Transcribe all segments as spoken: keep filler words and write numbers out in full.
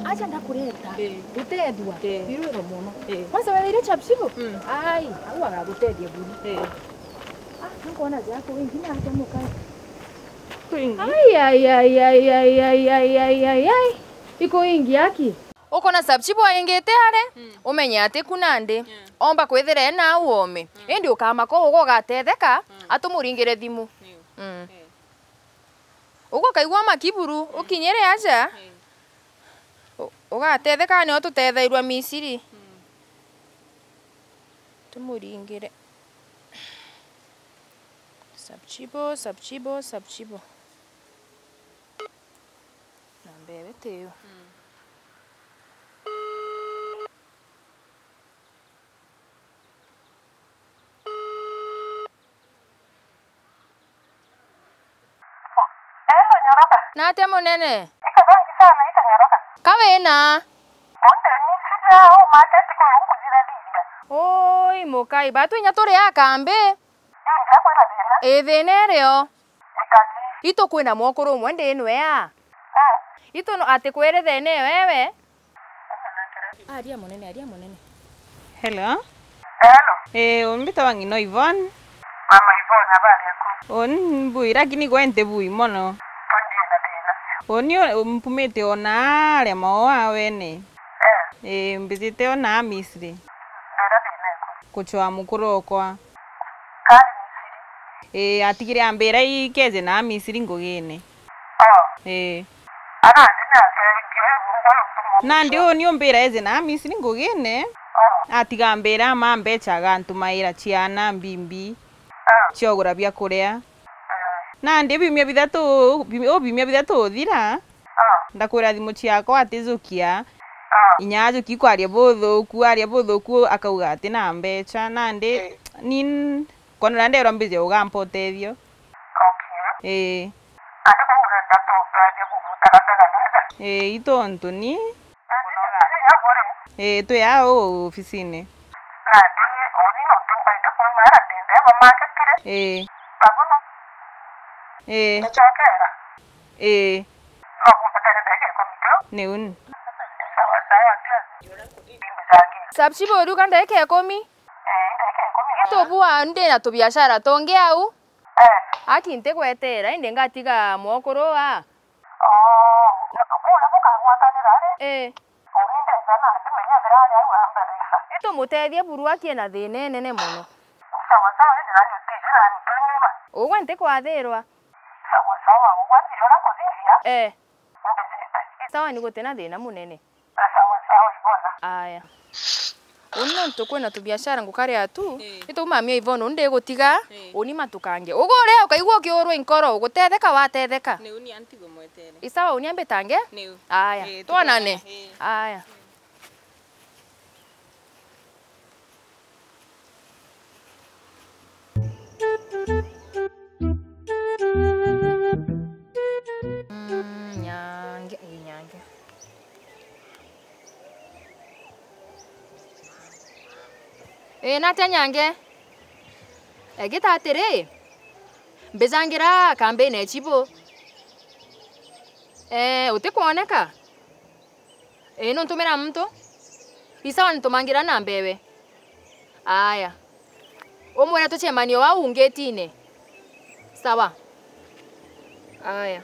Acha ndakureta. Eh. Gutethua. Eh. Birwiro mono. Eh. Kwanza wetheire Chapchibo? Mm. Ai, au agagutethia buru. Eh. Ah, nkona jaku wingi na acha mukai. Kwingi. Ai, ai, ai. Iko ingi aki. Ukona Chapchibo aingite are, mm, umenye ati ku nandi, mm, omba kwithira ena au ome. Mm. Indi ukamaka uga ugatetheka, mm, atumuringire thimu. Niu. Mm. Eh. Uguo ukaigua makiburu, mm, ukinyire aja, mm, u-, ugatetheka nio tutethairua Misiri. Mm. Tumuringire. Chapchibo, Chapchibo, Chapchibo. Na mbere tiyo. Mm. Elo, nyoroka. Natia munene? Iko thangi sana, iko nyoroka. Ka wina? Onde ni sija au market ko kuthithathithia. Oi, mukai, batu inya turi a kambi. Ii, ndiakwira thina. Ii, thina irio. Ikaji. Itu kwina mwokuru umwe ndi nwea. Mm. Itu no atikwire thina iyo ewe. Aria munene, aria munene. Hello. Hello. Eh, umbitawa ng'ino Yvonne. Mama Yvonne, habari yako? Uni mbui, lakini gwe nti bui mono. Tondie na thina. Uni u-, mpumite ona aria maoa wene. Eh. Eh, mbijite ona Misri. Ndira thina iko? Kuchwa mukuru okwa. Kari Misri. Ii, atigire ambira ikeje na Misri ngugine. Oh. Ii. Ara ndi nake, ndio, ndio, ndio. Nandi uni umbira eje na Misri ngugine, oh, atiga ambira ama mbecha agantumaira ciana mbimbi, oh, ciogura bia kuria. Mm. Nandi biumia bithatu, bi-, o biumia bithatu uthira, ah, ndakwira thimu ciakwa atijukia. Ah. Inya ajuki kwaria buthuku, aria buthuku akauga ati na mbecha. Nandi, eh, ni n-, kona uria nderwa mbije ugampa utethio. Okay. Ii. Ati kuu urenda tukarie kugwikara mbega na aja? Ii, i tontu ni. Nandi ni inya kuri? Ii, twi aa uu ofisini. Nandi uni nontu nkwenda kuuma ara ndi nthea bamaketire. Ii. Babono. Ii. Ndacokera. Ii. No kumbatare ndagika ikumi tu? Ni uni. Sawa, sawa, ndio. Chapchibo uruga ndagika ikumi? Ii, ndagika ikumi. Tubua ndi na tubiashara tungi au. Eh. Aki ntigwetera, indi ngatiga mwokuru aa. Oo, na kuria bukagwatanira ri? Ii. Uni ndeja na ndimenya ethira ari au ambere. Itumutethie buru aki ena thina inene mono. Sawa sawa, indi nani utiji nani tunyuma. Ugwe ntikwathirwa. Sawa sawa, ugwatire uria kuthithia. Ee. Ndijite. Sawa, ni gutina thina munene. Sawa sawa, Ivona. Aya. Uni nontu kwina tubiashara ngukaria tu, ii, ni tumamia Ivona, uni ndigutiga, ii, uni matukange. Uguo uria ukaigua ukiurwa i nkoro, ugutetheka watetheka. Niu ni antigo mwetere. I sawa, uni ambitange? Niu. Aya, ii, twonane. Ii. Aya. Mm, nyange, ii, nyange. Ii, natia nyange? Egita atiri, mbijangira kambine chibu. Ee, utikwoneka? Ii, nuntumira muntu? I sawa, nitumangira namba ewe. Aya. Umwire tucemanie o au ngetine. Sawa. Aya.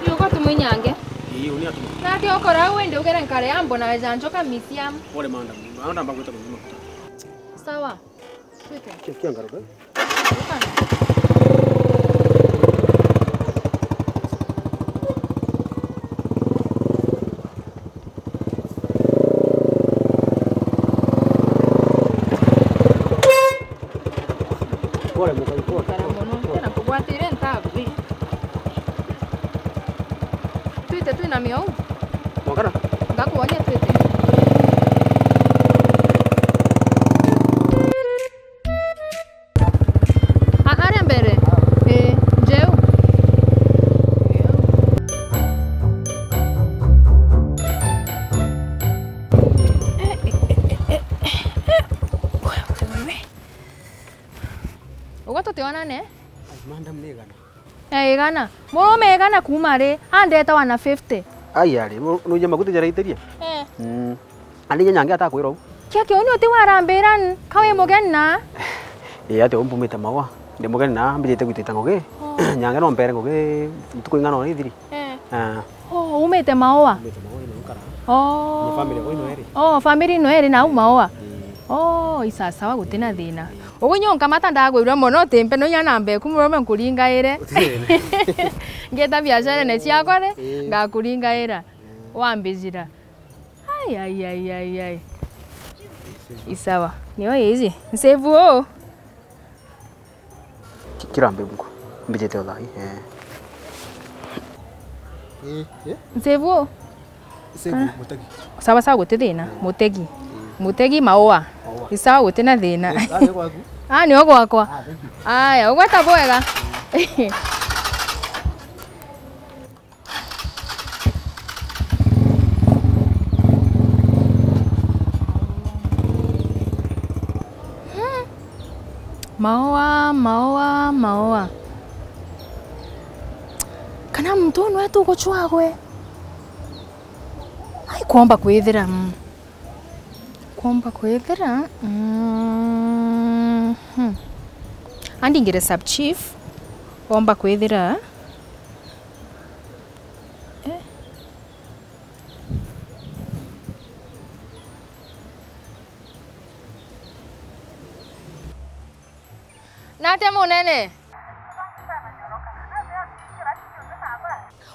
Ni uko tumwinyange. Ii, uni atuma. Nake ukora au indi ugere nkare ambo na weja njoka misiam. Pole madam. Naona mbagweta kunyuma kuta. Sawa. Twite. Kia, kia ngaruka. Ukana. Kara mono, tena nkugwatire ntabu. Twite twina miau. Mwakana? Ngakwonia twite. A-, aria mbere. Ii, njeu. Ugwe tutionane? Ai, madam, ni igana. Eh, igana. Murume igana kuuma ri? Andeta one fifty. Ai, ari, mu-, nuija maguti jaraitirie? Eh. Mm. Ani inya nyange atakwira u. Kia kiu ni uti warambira n-, ka wi mugeni na? Ii, ati u mpumite maua. Ndi mugeni na, mbijite gwitita ngugi. Oh. Nyange no mpere ngugi ntuku ing'ana ona ithiri. Eh. Ah. Oh, umite maua? Umite maua ino nkara. Oh. Ni family kwa ino eri. Oh, family ino eri na u maua? Ii. Oh, isasawa gutina thina. Ii. Ugu nyo nkamata ndagwirwe mono, utimpe no inya namba eku murume nkuringaire. Ngeta biacarene ciakwa ri, ii, ngakuringaira. Wambijira. Ai, ai, ai, ai, ai. Isawa. Nio iji. Nsevu o. Ki-, kira mbe bungu. Mbijite o thai, eh. Eh, eh? Nsevu o. Nsevu, kana mutegi. Sawa, sawa, guti thina. Eh. Mutegi. Eh. Mutegi maua. Maua. Isawa, guti na thina. Eh, ah, nio gwaku? Ah, nio gwakwa. Ah, thank you. Aya, ugweta bwega. Hmm. Maua, maua, maua. Kana muntu uu nwe tugucwagwe? Ai, kwomba kwithira, mm. Kwomba kwithira, mm, hmm. Andingire sub chief, kwomba kwithira. Eh. Nate munene?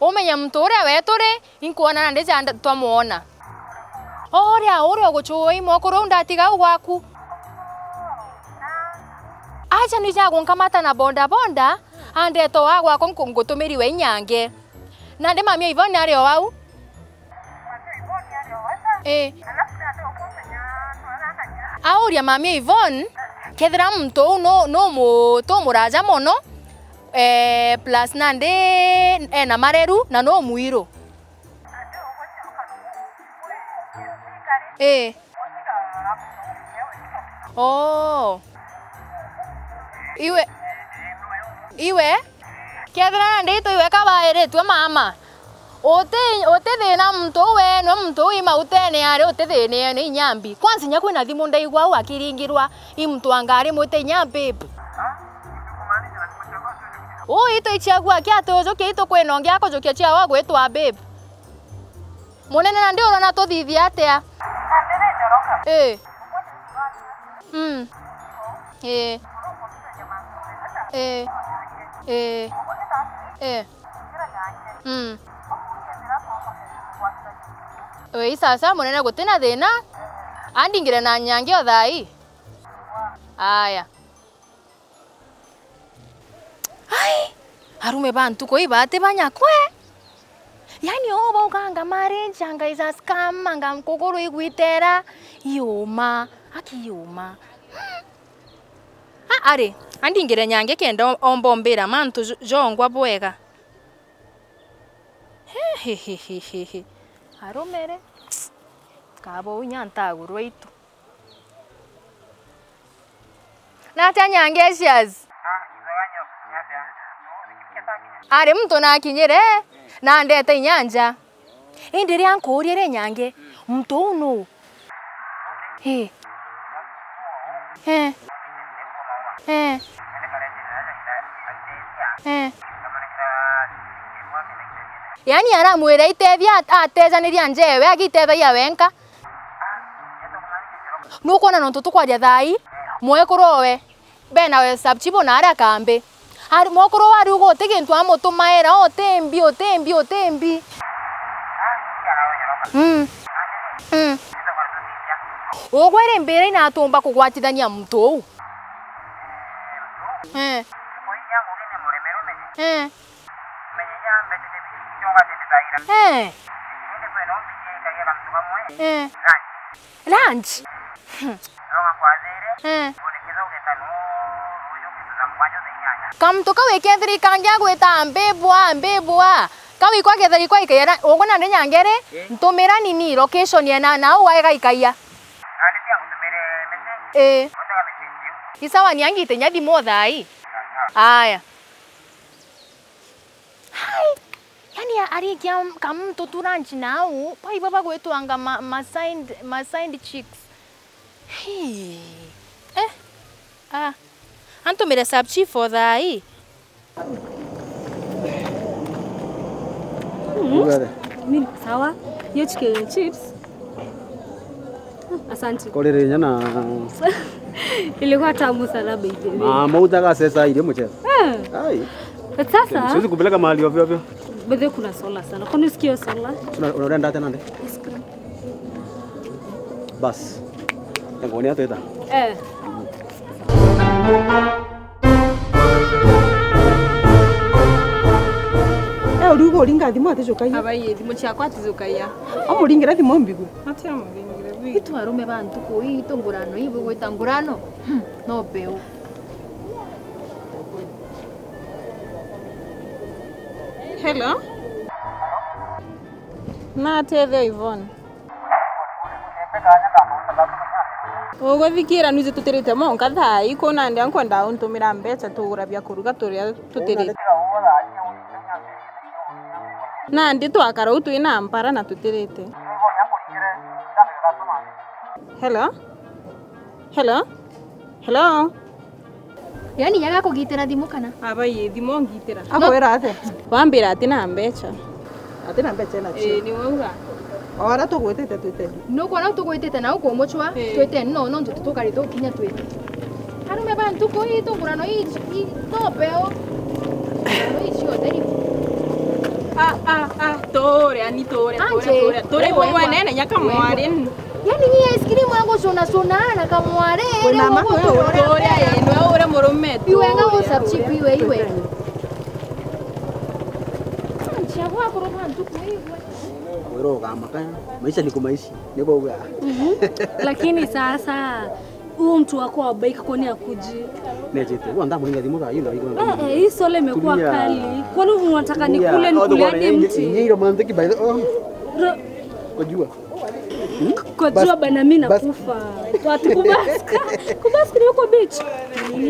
Umenye muntu uria wetu ri, inkwona na ndija nda-, twamwona. Uria, uria ugucua i mwekuru u ndatiga u gwaku. Acha nija gunkamata na boda boda, andeta o a gwakwa nku-, ngutumiri we inyange. Nandi mami o Ivoni ari o au? Ii. Auria mami o Ivoni, kethira muntu uu nu, nu mu-, tu muraja mono, eh, plus nandi ena mareru na nu mwiru. Ii. Oo. Iwe, iwe, kethira nandi itwe iwe kabairitue mama. Uti, uti thina muntu uu we, nwe muntu uu i mautene ari, uti thina ni inya mbi. Kwanza inya kwina thimu ndaigua au akiringirwa, i muntu wa ngari mwite inya babe. Uu itu ichiagua kia ati ujukia itu kwina ungi akujukia chiawa gwitwa babe. Munene, nandi urona tuthithie atia? Ii. Mm. Ii. Ii. Ii. Ii. Mm. Ii, sasa munene gutina thina. Andingire na nyangi o thai. Aya. Ai, arume ba ntuku ii bati banyakwe. Yaani, oo baukanga marriage, anga is a scam, anga nkuguru igwitera. Iuma, aki iuma. Hmm. A, ari, andingire nyangi kenda o-, omba ombira mantu jo-, jongwa bwega. He, he, he. Arumere. Kabo inya ntagurwa itu. Natia Nyangi Asias? Ari muntu nakinyire, na ndete inya nja. Indi ria nkuurie ri Nyangi, muntu uu nuu? Ii. Ee. Ee. Ee. Yaani aramwira itethia at-, atejaniria njewe, agitethagia wenka. Nukwona nontu tukwaria thaa ii, mwekuru owe, bena we sub chief na aria kambi. Ari, mwekuru owe ariuga uti gintu amutumaira, uti mbi, uti mbi, uti mbi. Mm. Mm. Ugwe ri mbira inatumba kugwatithania muntu uu? Eh. Eh. Eh. Lunch? Hmm. Eh. Kamuntu kau ikethira ikangia gwita mbibwa, mbibwa. Kau ikwa kethira ikwa ikaia na, ugwe nandi nyangere, ntumira nini location ya na, na ugwe igaikaia. Ii. Isawa ni angite nya thimu thaa ii. Aya. Hai! Yani arikia kamuntu tu lunch nau, baiba bagwitwanga ma, ma side, ma side chicks. Hii. Eh? Ah. Antumire sub chief o thaa ii. Ugare. Mimi sawa. Hiyo chicken chips. Asante. Korere nyana. Ilikuwa tamu sana, by the way. Ma, mauta ga sesa ile mchezo. Eh. Ai. But sasa siwezi kupeleka mahali ovyo ovyo. By the way, kuna sola sana. Kwani usikio sola? Una, unaenda hata nande? Ice cream. Bas. Yango ni ateta. Eh. Eh, uriuga uringa thimu atijukagia. Abai, thimu ciakwa atijukagia. Amuringire thimu mbigwe. Ati amuringire bi. Itu arume ba ntuku ii, itu ngurano ii, bugwita ngurano? Hmm, no peu. Hello? Natethia Yvonne. Uguthikira nwiji tutirite monka thaa ii, kuu nandi ankwenda untumira mbeca tugura bia kuruga turia tutirite. Nandi twakara uu twina mpara na tutirite. Hello? Hello? Hello? Yani, nyaga kugitira thimu kana? Abai, thimu ngitira. Akwira atia? Wambira ati na mbeca. Ati na mbeca nacio? Ii, ni wauga. O aria tugwitite twite. Nukwona tugwitite na ukumucwa, ii, twite no, no ntutu tukari tukinya twite. Arume ba ntuku ii, tungurano ii, ii, no beo. Ngurano ii ciothe ni. Ah, ah, ah, turia, ni turia, turia, turia. Turi bumwe nene nyaka mwari. Yani, ni ice cream ya gucuna cuna na kamware. Kwina ma wewe. Turia, ii, nwe ure murume. Iwe nga usubscribe iwe, iwe. Nchia gwa kuruga ntuku igwe. Kwirwo ugamaka, maisha ni kumaishi, ni bauga. Mhm. Lakini sasa, huyu mtu wako wa bike kwani akuji? Nejete, huwa ndamuringa thimu thaa hii na iko. Eh, eh, hii sola imekuwa kali. Kwani unataka nikule, nikule hadi mti? Ni romantic by the, oh. Ro- Kujua. Kujua bana, mimi nakufa. Watu kubaska. Kubaska ni huko beach.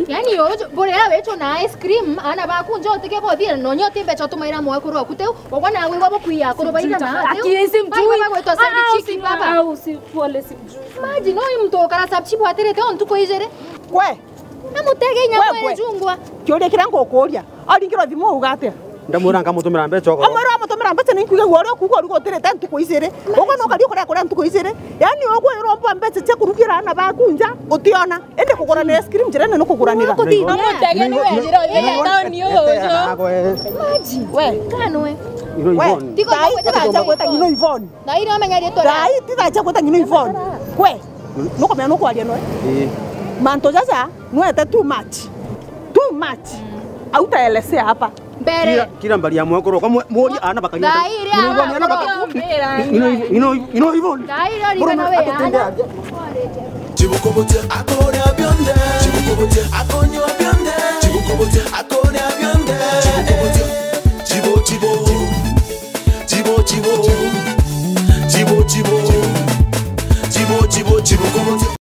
Yani, yo, bore ya wecho na ice cream, ana bakunja utike bothie, no nyote mbeca tumaira mwe kuru akute, ogwa na gwe wabo kuya kuru baira na. Ati simjui. Baba gwetwa side chiki baba. Au si pole, simjui. Maji no mtu ukara sub chief aterete on tuko ijere. Kwe. Na mutege inya mwe jungwa. Kiuria kiria ngukuria. Aringirwo thimu uga atia? Ndamwira nkamutumira mbeca okoro. Amwira amutumira mbeca, ni nkuigagua uria ukuuga uriga utirite ntuku ijiri. Uguo no ukari ukuria kuria ntuku ijiri. Yani ukwirwo mba mbeca cia kurugira ana baku nja utiona. Indi kuguranira ice cream njirene ni kuguranira. Mutege ni wejira uthia tauni uyu. Maji. We. Kanwe. Ino Ivon. Tigo thaa ii tithaa cia gwita ng'ino Ivon. Na iri omenya riitwa ria. Thaa ii tithaa cia gwita ng'ino Ivon. Kwe. Nukumenya nukwaria noe. Ii. Mantu jaja nwete too much. Too much. Hautaelezea hapa. Mbere. Kira, kira mbari ya mwekuru kwa mwe-, mwori ana bakari. Thaa iri ana bakari. Ino, ino, ino, ino Ivon. Thaa iri ori kana we ana. Chibukubutia akoria bionde. Chibukubutia akonywa bionde. Chibukubutia akoria bionde. Chibukubutia. Chibo, chibo. Chibo, chibo. Chibo, chibo. Chibo, chibo, chibukubutia.